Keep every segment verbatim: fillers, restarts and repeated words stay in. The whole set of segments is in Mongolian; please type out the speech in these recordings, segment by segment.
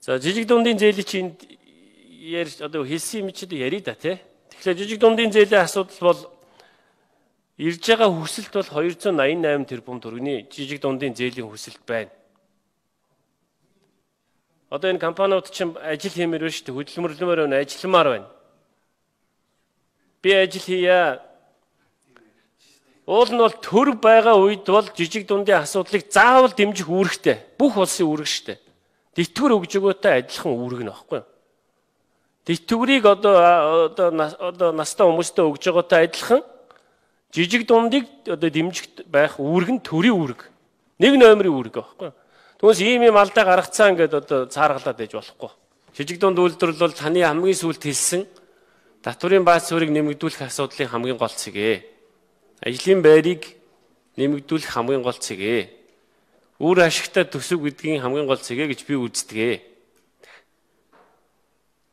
За жижиг дундын зээлийн чинь ярьж одоо хэлсэн юм чи ярий да тий. Тэгэхээр жижиг дундын зээлийн асуудал бол ирж байгаа хүсэлт бол хоёр зуун найман найман тэрбум төгрөгийн жижиг дундын зээлийн хүсэлт байна. Одоо энэ компаниуд чинь ажил хиймээр байна шүү дээ. Хөдөлмөрлөмөр байна, ажилламаар байна. Би ажил хийя. Уул нь бол төр байгаа үед бол жижиг дундын асуудлыг заавал дэмжих үүрэгтэй. Бүх улсын үүрэг шүү дээ. Тэтгэвэр өгж өгөөтэй адилхан үүрэг нь баггүй юу? Тэтгэврийг одоо одоо одоо настай хүмүүстээ өгж байгаатай адилхан жижиг дундыг одоо дэмжих байх үүрэг нь төрийн үүрэг. Нэг номерын үүрэг баггүй юу? Түүнээс ийм юм алдаа гаргацсан ингээд одоо цааргалаад байж болохгүй. Жижиг дунд үйлдвэрлэл бол таны хамгийн сүүлд хэлсэн татврын бааз суурийг нэмэгдүүлэх асуудлын хамгийн гол цэгээ. Ажлын байрыг нэмэгдүүлэх хамгийн гол цэгээ. Үр ашигтай төсөв гэдгийн хамгийн гол цэгээ гэж би үздэг.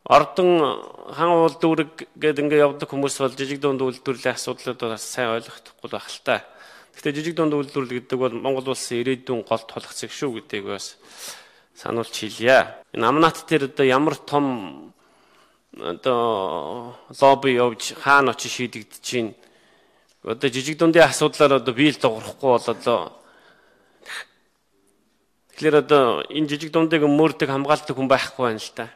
Ордон хан үйлдвэрэг гэдэг ингээд явдаг хүмүүс бол жижиг дунд үйлдвэрлэлийн асуудлууд бас сайн ойлгохгүй байх л та. Гэхдээ жижиг дунд үйлдвэрлэл гэдэг бол Монгол улсын ирээдүйн гол тулах зэг шүү гэдгийг бас сануулж хэлье. Энэ амнат дээр одоо ямар том одоо лобби явж хаана очиж шийдэгдэж чинь одоо жижиг дундын асуудлаар одоо биел дуурахгүй болоо. Тэгэхээр одоо энэ жижиг дундыг мөрдөг хамгаалдаг хүн байхгүй байна л та.